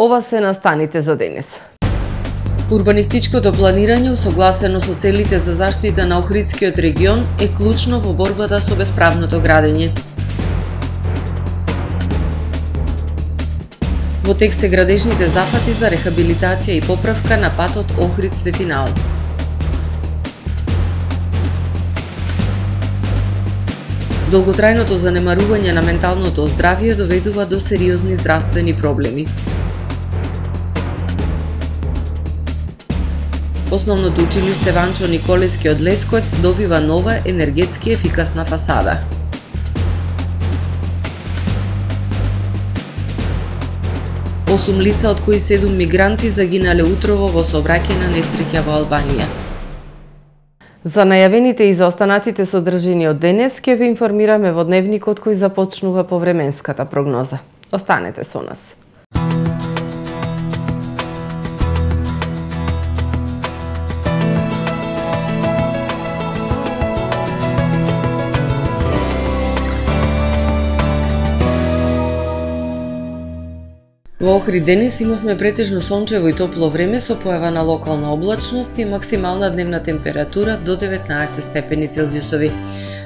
Ова се настаните за денес. Урбанистичкото планирање, усогласено со целите за заштита на Охридскиот регион, е клучно во борбата со бесправното градење. Во текст се градежните зафати за рехабилитација и поправка на патот Охрид-Светинао. Долготрајното занемарување на менталното здравје доведува до сериозни здравствени проблеми. Основното училиште Ванчо Николевски од Лесковец добива нова енергетски ефикасна фасада. Осум лица, од кои 7 мигранти, загинале утрово во сообраќајна несреќа во Албанија. За најавените и за останатите содржини од денес ќе ви информираме во дневникот кој започнува по временската прогноза. Останете со нас. Во Охрид денес имавме претежно сончево и топло време со појава на локална облачност и максимална дневна температура до 19 степени Целзиусови.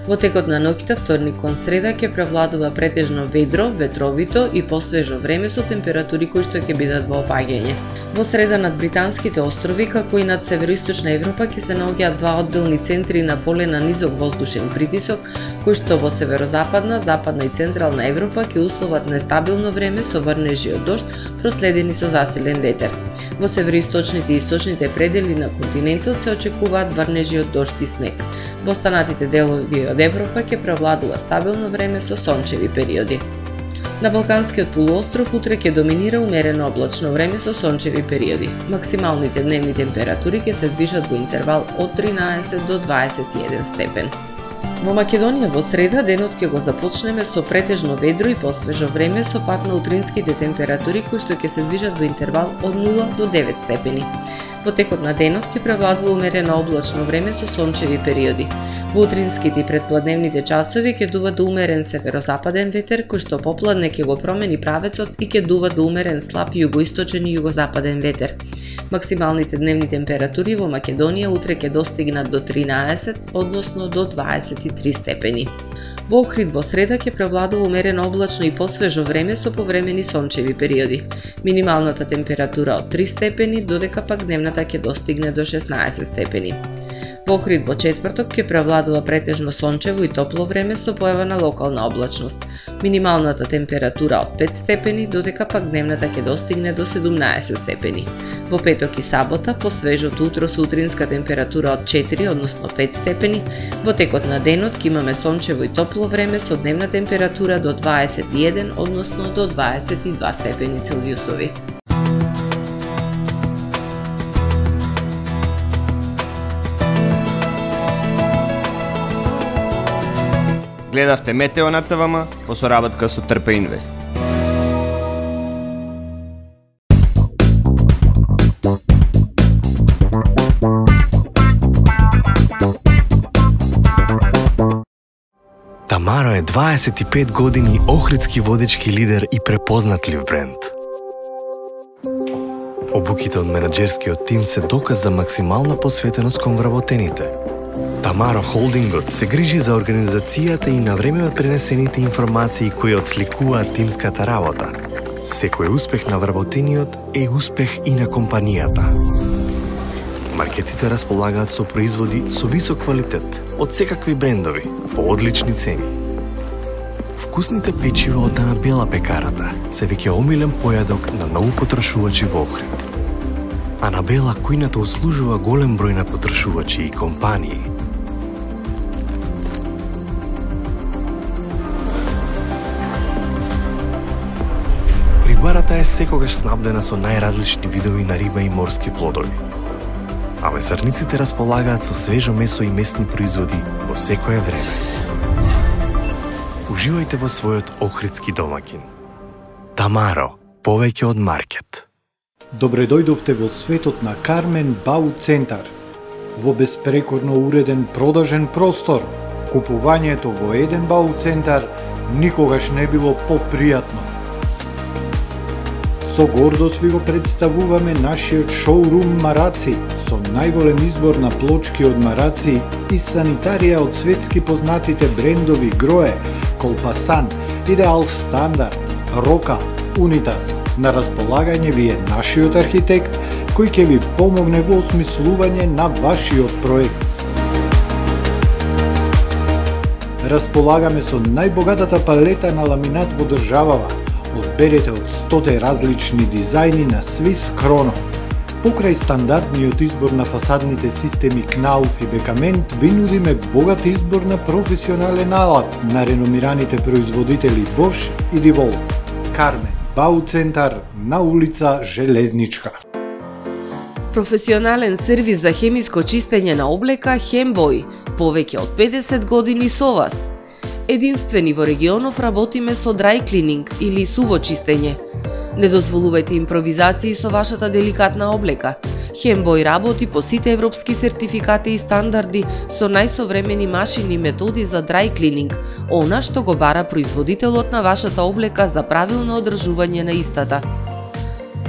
Во текот на ноќта, вторник кон среда, ќе превладува претежно ведро, ветровито и посвежо време со температури кои што ќе бидат во опаѓање. Во среда над Британските острови, како и над североисточна Европа, ќе се наоѓаат два одделни центри на поле на низок воздушен притисок, кои што во северозападна, западна и централна Европа ќе условат нестабилно време со врнежи од дожд, проследени со засилен ветер. Во североисточните и источните предели на континентот се очекуваат врнежи од дожд и снег. Во останатите делови од Европа ќе превладува стабилно време со сончеви периоди. На Балканскиот полуостров утре ќе доминира умерено облачно време со сончеви периоди. Максималните дневни температури ќе се движат во интервал од 13 до 21 степен. Во Македонија во среда денот ќе го започнеме со претежно ведро и посвежо време со пат на утринските температури кои што ќе се движат во интервал од 0 до 9 степени. Во текот на денот ќе превладува умерено облачно време со сончеви периоди. Во утринските и предпладневните часови ќе дува до умерен северозападен ветер кој што попладне ќе го промени правецот и ќе дува до умерен слаб југоисточен и југозападен ветер. Максималните дневни температури во Македонија утре ќе достигнат до 13, односно до 23 степени. Во Охрид во среда ќе превладува умерено облачно и посвежо време со повремени сончеви периоди. Минималната температура од 3 степени, додека пак дневната ќе достигне до 16 степени. Во Охрид во четврток ќе превладува претежно сончево и топло време со појава на локална облачност. Минималната температура од 5 степени, додека пак дневната ќе достигне до 17 степени. Во петок и сабота, по свежото утро со утринска температура од 4, односно 5 степени, во текот на денот ќе имаме сончево и топло време со дневна температура до 21, односно до 22 степени Целзиусови. Гледавте Метео на ТВМ по соработка со Трпе Инвест. Тамаро е 25 години охридски водички лидер и препознатлив бренд. Обуките од менаџерскиот тим се доказ за максимална посветеност кон вработените. Тамаро Холдингот се грижи за организацијата и на време пренесените информации кои отсликуваат тимската работа. Секој успех на вработениот е успех и на компанијата. Маркетите располагаат со производи со висок квалитет од секакви брендови по одлични цени. Вкусните печива од Анабела пекарата се веќе омилен појадок на многу потрошувачи во Охрид. Анабела кујната услужува голем број на потрошувачи и компании. Рибарата е секогаш снабдена со најразлични видови на риба и морски плодови. А месарниците располагаат со свежо месо и месни производи во секое време. Уживајте во својот охридски домаќин. Тамаро, повеќе од маркет. Добре дојдовте во светот на Кармен Бау Центар. Во беспрекорно уреден продажен простор, купувањето во еден Бау Центар никогаш не било попријатно. Со гордост ви го представуваме нашиот шоурум Мараци, со најголем избор на плочки од мараци и санитарија од светски познатите брендови Грое, Колпасан, Идеал Стандард, Рока, Унитас. На располагање ви е нашиот архитект, кој ќе ви помогне во осмислување на вашиот проект. Располагаме со најбогатата палета на ламинат во државава. Одберете од 100 различни дизајни на Swiss Chrono. Покрај стандардниот избор на фасадните системи Knauf и Бекамент, ви нудиме богат избор на професионален алат на реномираните производители Bosch и DeWalt. Кармен Бауцентар на улица Железничка. Професионален сервис за хемиско чистење на облека Хембој, повеќе од 50 години со вас. Единствени во регионов работиме со dry cleaning или суво чистење. Не дозволувајте импровизации со вашата деликатна облека. Хембој работи по сите европски сертификати и стандарди со најсовремени машини и методи за dry cleaning, она што го бара производителот на вашата облека за правилно одржување на истата.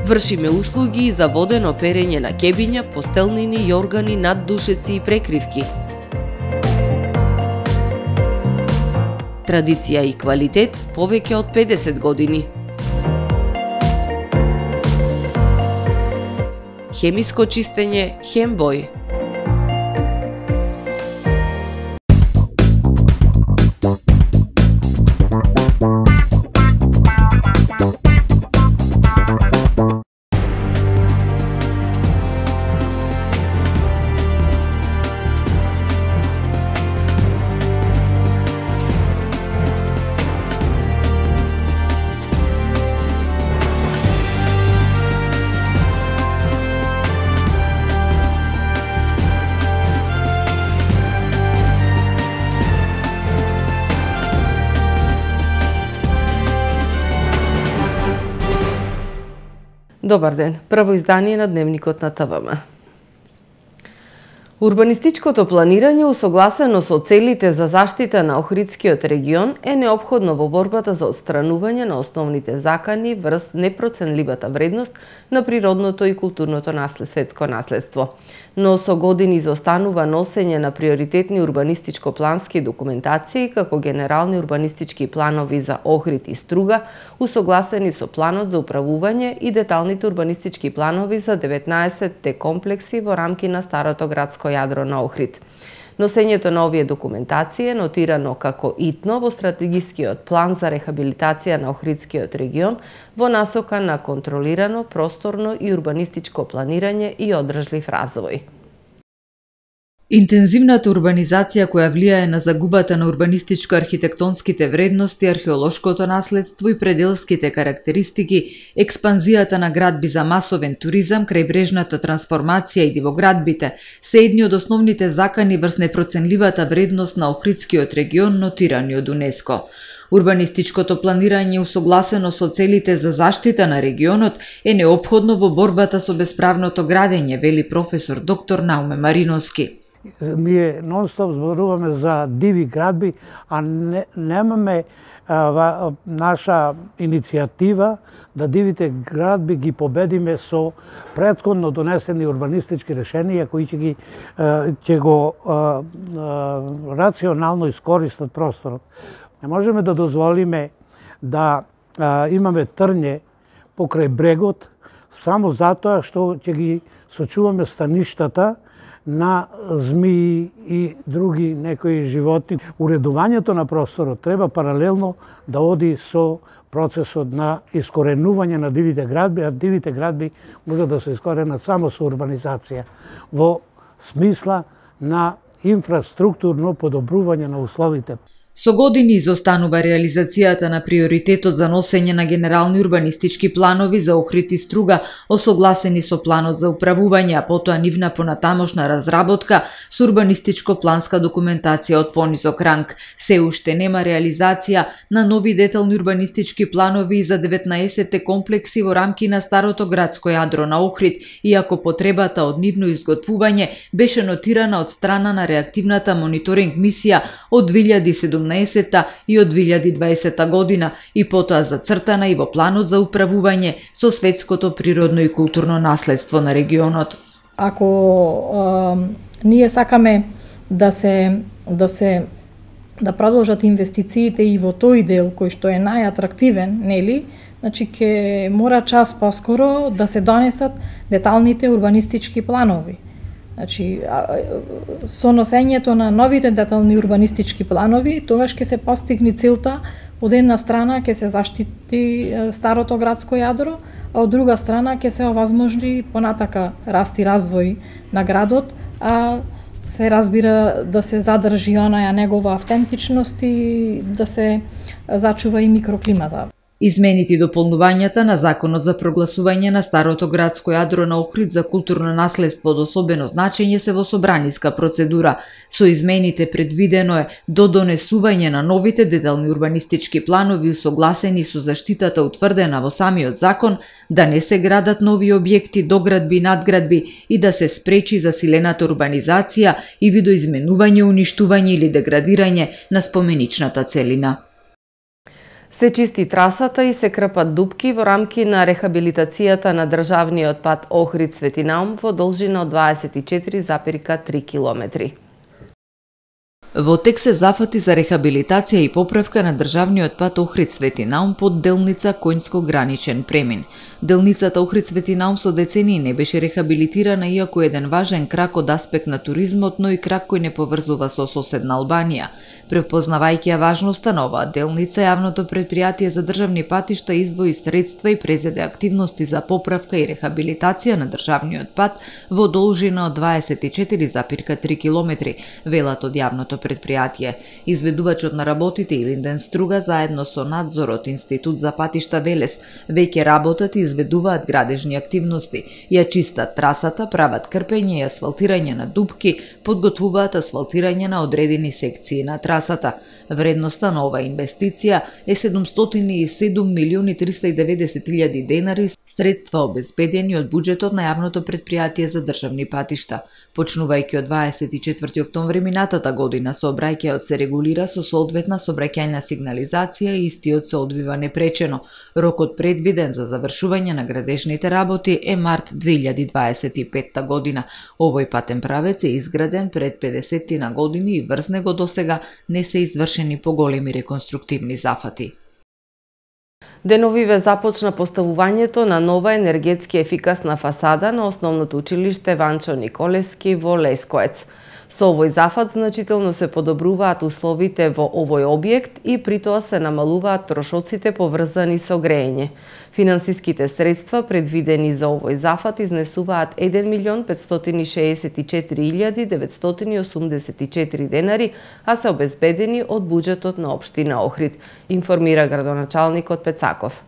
Вршиме услуги за водено перење на кебиња, постелнини, јоргани, наддушеци и прекривки. Традиција и квалитет повеќе од 50 години. Хемиско чистење Хембој. Добар ден, прво издание на Дневникот на ТВМ. Урбанистичкото планирање усогласено со целите за заштита на Охридскиот регион е неопходно во борбата за отстранување на основните закани врз непроценливата вредност на природното и културното светско наследство. Но со години изостанува носење на приоритетни урбанистичко-плански документации како генерални урбанистички планови за Охрид и Струга, усогласени со планот за управување и деталните урбанистички планови за 19-те комплекси во рамки на старото градско јадро на Охрид. Носењето на овие документации е нотирано како итно во стратегискиот план за рехабилитација на Охридскиот регион во насока на контролирано, просторно и урбанистичко планирање и одржлив развој. Интензивната урбанизација која влијае на загубата на урбанистичко-архитектонските вредности, археолошкото наследство и пределските карактеристики, експанзијата на градби за масовен туризам, крајбрежната трансформација и дивоградбите се едни од основните закани врз непроценливата вредност на Охридскиот регион, нотирани од УНЕСКО. Урбанистичкото планирање усогласено со целите за заштита на регионот е неопходно во борбата со бесправното градење, вели професор доктор Науме Мариновски. Ние нон-стоп зборуваме за диви градби, а немаме наша иницијатива да дивите градби ги победиме со претходно донесени урбанистички решенија кои ќе го рационално искористат просторот. Не можеме да дозволиме да имаме трње покрај брегот само затоа што ќе ги сочуваме стаништата на змии и други некои животни. Уредувањето на просторот треба паралелно да оди со процесот на искоренување на дивите градби, а дивите градби може да се искоренат само со урбанизација во смисла на инфраструктурно подобрување на условите. Со години изостанува реализацијата на приоритетот за носење на генерални урбанистички планови за Охрид и Струга, осогласени со планот за управување, а потоа нивна понатамошна разработка со урбанистичко-планска документација од понизок ранг. Се уште нема реализација на нови детални урбанистички планови за 19-те комплекси во рамки на старото градско јадро на Охрид, иако потребата од нивно изготвување беше нотирана од страна на реактивната мониторинг мисија од 2017 2014 и од 2020 година и потоа зацртана и во планот за управување со светското природно и културно наследство на регионот. Ако ние сакаме да продолжат инвестициите и во тој дел кој што е најатрактивен, нели? Значи ќе мора час поскоро да се донесат деталните урбанистички планови. Значи со носењето на новите детални урбанистички планови, тогаш ќе се постигне целта, од една страна ќе се заштити старото градско јадро, а од друга страна ќе се овозможни понатака раст и развој на градот, а се разбира да се задржи онаја негова автентичност и да се зачува и микроклимата. Измените и дополнувањата на Законот за прогласување на старото градско јадро на Охрид за културно наследство од особено значење се во собраниска процедура. Со измените предвидено е до донесување на новите детални урбанистички планови усогласени со заштитата утврдена во самиот закон, да не се градат нови објекти, доградби и надградби и да се спречи засилената урбанизација и видоизменување, уништување или деградирање на споменичната целина. Се чисти трасата и се крпат дупки во рамки на рехабилитацијата на државниот пат Охрид-Свети Наум во должина од 24,3 километри. Во тек се зафати за рехабилитација и поправка на државниот пат Охрид-Свети Наум под делница Коњско граничен премин. Делницата Охрид-Свети Наум со децении не беше рехабилитирана, иако е еден важен крак од аспект на туризмот, но и крак кој не поврзува со соседна Албанија. Препознавајќи ја важноста на оваа делница, јавното предпријатие за државни патишта издвои средства и презеде активности за поправка и рехабилитација на државниот пат во должина од 24,3 километри, велат од јавното предпријатие. Изведувачот на работите Илинден Струга заедно со надзорот Институт за патишта Велес веќе работат и изведуваат градежни активности, ја чистат трасата, прават крпење и асфалтирање на дупки, подготвуваат асфалтирање на одредени секции на трасата. Вредноста на оваа инвестиција е 707.390.000 денари, средства обезбедени од буџетот на јавното предпријатие за државни патишта. Почнувајќи од 24 октомври минатата година, сообраќајот се регулира со соодветна сообраќајна сигнализација и истиот се одвива непречено. Рокот предвиден за завршување на градежните работи е март 2025 година. Овој патен правец е изграден пред 50 години и врз него досега не се извршени поголеми реконструктивни зафати. Деновиве започна поставувањето на нова енергетски ефикасна фасада на основното училиште Ванчо Николевски во Лескоец. Со овој зафат значително се подобруваат условите во овој објект и при тоа се намалуваат трошоците поврзани со грејење. Финансиските средства предвидени за овој зафат изнесуваат 1.564.984 денари, а се обезбедени од буџетот на општина Охрид, информира градоначалникот Пецаков.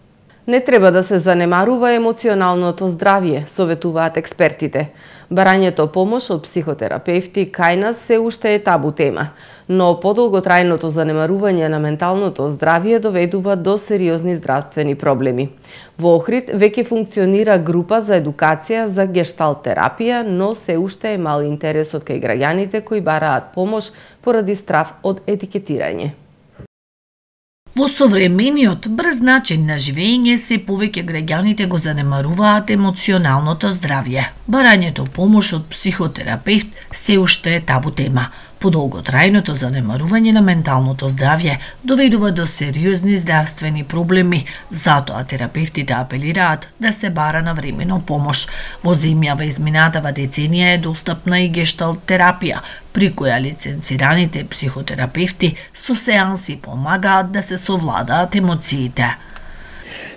Не треба да се занемарува емоционалното здравје, советуваат експертите. Барањето помош од психотерапевти кај нас се уште е табу тема, но подолготрајното занемарување на менталното здравје доведува до сериозни здравствени проблеми. Во Охрид веќе функционира група за едукација за гешталт терапија, но се уште е мал интересот кај граѓаните кои бараат помош поради страв од етикетирање. Во современиот брз начин на живење се повеќе граѓаните го занемаруваат емоционалното здравје. Барањето помош од психотерапевт се уште е табу тема. Подолготрајното занемарување на менталното здравје доведува до сериозни здравствени проблеми, затоа терапевтите апелираат да се бара навремено помош. Во земјава изминатава деценија е достапна и гешталт терапија, при која лиценцираните психотерапевти со сеанси помагаат да се совладаат емоциите.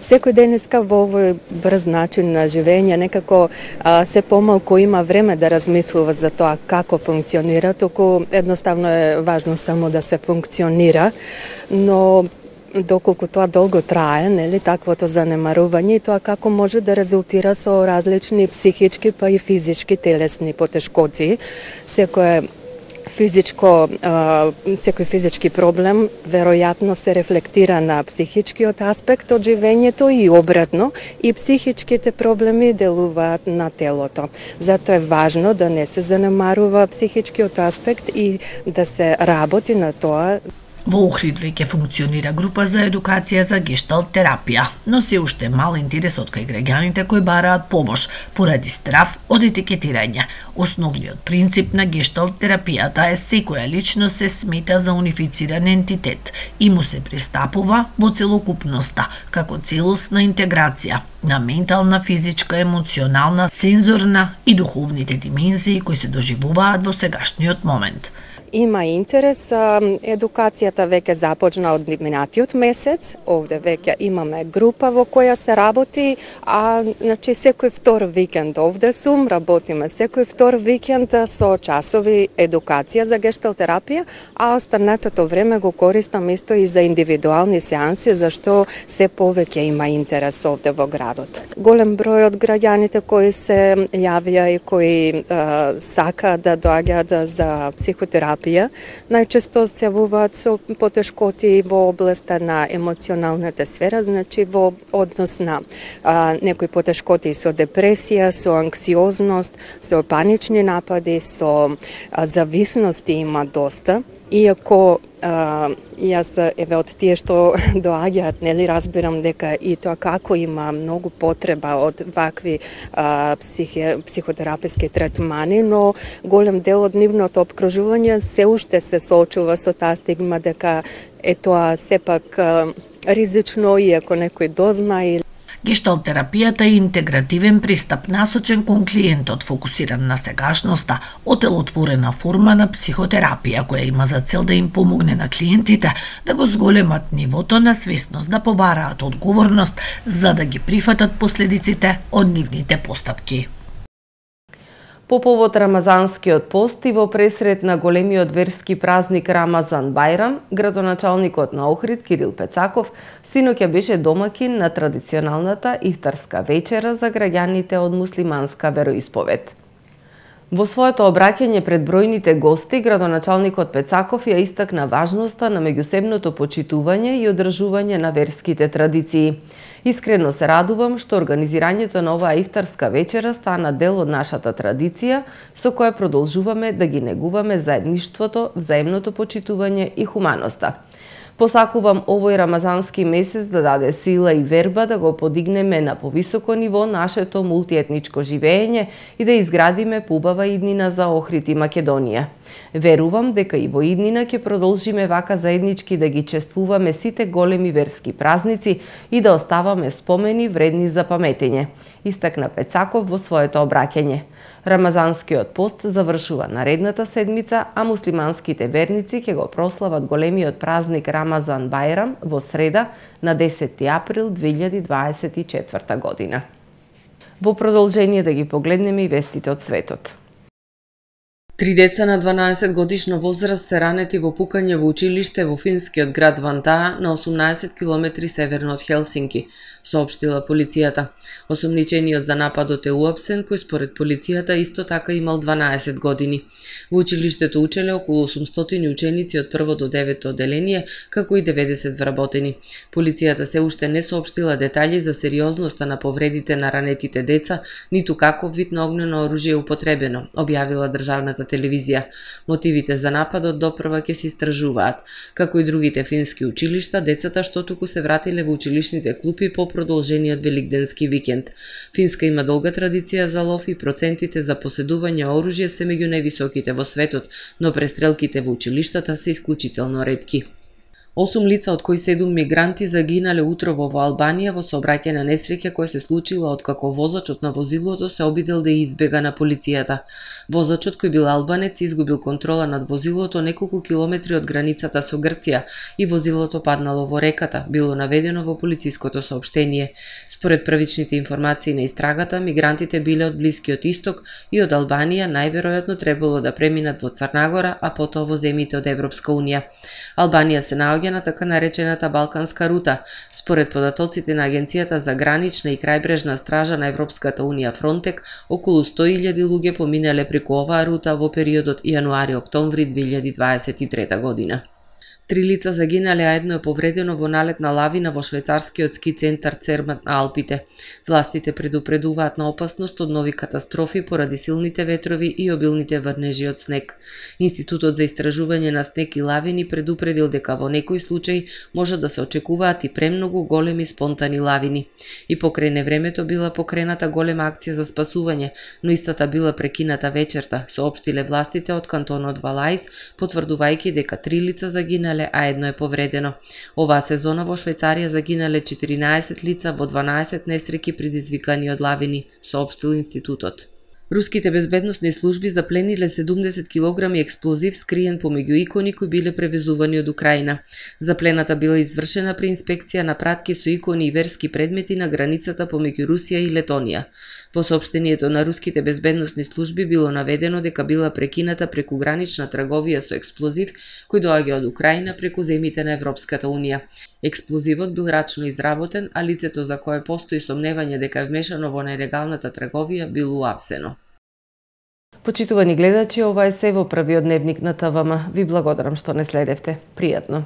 Секој денеска во овој брз начин на живење некако се помалку има време да размислува за тоа како функционира, туку едноставно е важно само да се функционира, но доколку тоа долго трае, нели, таквото занемарување и тоа како може да резултира со различни психички па и физички телесни потешкоци, секој физички проблем веројатно се рефлектира на психичкиот аспект од живењето и обратно, и психичките проблеми делуваат на телото. Затоа е важно да не се занемарува психичкиот аспект и да се работи на тоа. Во Охрид веќе функционира група за едукација за гешталт терапија, но се уште мал интересот кај граѓаните кои бараат помош поради страв од етикетирање. Основниот принцип на гешталт терапијата е секоја личност се смета за унифициран ентитет и му се пристапува во целокупноста, како целосна интеграција на ментална, физичка, емоционална, сензорна и духовните димензии кои се доживуваат во сегашниот момент. Има интерес, едукацијата веќе започна од минатиот месец, овде веќе имаме група во која се работи, значи секој втор викенд овде сум, работиме секој втор викенд со часови едукација за гешталт терапија, а останатото време го користам исто и за индивидуални сеанси, зашто се повеќе има интерес овде во градот. Голем број од граѓаните кои се јавија и кои сакаат да доаѓаат за психотерапија, најчесто се јавуваат со потешкоти во областа на емоционалната сфера, значи во однос на некои потешкоти со депресија, со анксиозност, со панични напади, со зависности има доста. Иако јас еве од тие што доаѓаат, нели, разбирам дека и тоа како има многу потреба од вакви психотераписки третмани, но голем дел од нивното опкружување се уште се соочува со таа стигма дека е тоа сепак ризично, иако некој дозна. Гешталт терапијата е интегративен пристап насочен кон клиентот, фокусиран на сегашноста, отелотворена форма на психотерапија која има за цел да им помогне на клиентите да го зголемат нивото на свесност, да побараат одговорност за да ги прифатат последиците од нивните постапки. По повод Рамазанскиот пост и во пресред на големиот верски празник Рамазан Бајрам, градоначалникот на Охрид Кирил Пецаков синоќа беше домакин на традиционалната ифтарска вечера за граѓаните од муслиманска вероисповед. Во своето обраќање пред бројните гости, градоначалникот Пецаков ја истакна важноста на меѓусебното почитување и одржување на верските традиции. Искрено се радувам што организирањето на оваа ифтарска вечера стана дел од нашата традиција, со која продолжуваме да ги негуваме заедништвото, взаемното почитување и хуманоста. Посакувам овој рамазански месец да даде сила и верба да го подигнеме на повисоко ниво нашето мултиетничко живење и да изградиме поубава иднина за Охрид и Македонија. Верувам дека и во иднина ќе продолжиме вака заеднички да ги чествуваме сите големи верски празници и да оставаме спомени вредни за паметење, истакна Пецаков во своето обраќање. Рамазанскиот пост завршува наредната седмица, а муслиманските верници ќе го прослават големиот празник Рамазан Бајрам во среда на 10 април 2024 година. Во продолжение да ги погледнеме и вестите од светот. 3 деца на 12 годишна возраст се ранети во пукање во училиште во финскиот град Вантаа на 18 километри северно од Хелсинки, соопштила полицијата. Осомничениот за нападот е уапсен, кој според полицијата исто така имал 12 години. Во училиштето учеле околу 800 ученици од 1 до 9 одделение, како и 90 вработени. Полицијата се уште не соопштила детали за сериозноста на повредите на ранетите деца, ниту каков вид на огнено оружје употребено, објавила државната телевизија. Мотивите за нападот допрва ќе се истражуваат. Како и другите фински училишта, децата што туку се вратиле во училишните клупи по продолжениот великденски викенд. Финска има долга традиција за лов и процентите за поседување оружје се меѓу највисоките во светот, но престрелките во училиштата се исклучително ретки. 8 лица, од кои 7 мигранти, загинале утрово во Албанија во сообраќајна несреќа која се случила откако возачот на возилото се обидел да избега на полицијата. Возачот, кој бил албанец, изгубил контрола над возилото неколку километри од границата со Грција и возилото паднало во реката, било наведено во полициското соопштение. Според првичните информации на истрагата, мигрантите биле од Блискиот Исток и од Албанија најверојатно требало да преминат во Црнагора, а потоа во земјите од Европска унија. Албанија се наоѓа на така наречената Балканска рута. Според податоците на Агенцијата за гранична и крајбрежна стража на Европската унија Фронтек, околу 100.000 луѓе поминале преку оваа рута во периодот јануари-октомври 2023 година. 3 лица загинале, а едно е повредено во налет на лавина во швајцарскиот ски центар Цермат на Алпите. Властите предупредуваат на опасност од нови катастрофи поради силните ветрови и обилните врнежи од снег. Институтот за истражување на снег и лавини предупредил дека во некои случаи може да се очекуваат и премногу големи спонтани лавини. И покрај невремето била покрената голема акција за спасување, но истата била прекината вечерта, соопштиле властите од кантонот Валаис, потврдувајќи дека 3 лица загинале, а едно е повредено. Оваа сезона во Швајцарија загинале 14 лица во 12 несреќи предизвикани од лавини, соопштил институтот. Руските безбедносни служби заплениле 70 килограми експлозив скриен помеѓу икони кои биле превезувани од Украина. Заплената била извршена при инспекција на пратки со икони и верски предмети на границата помеѓу Русија и Летонија. Во соопштението на руските безбедносни служби било наведено дека била прекината прекугранична трговија со експлозив кој доаѓа од Украина преку земите на Европската Унија. Експлозивот бил рачно изработен, а лицето за кое постои сомневање дека е вмешано во нелегалната трговија било уапсено. Почитувани гледачи, ова е се во првиот дневник на ТВМ. Ви благодарам што не следевте. Пријатно.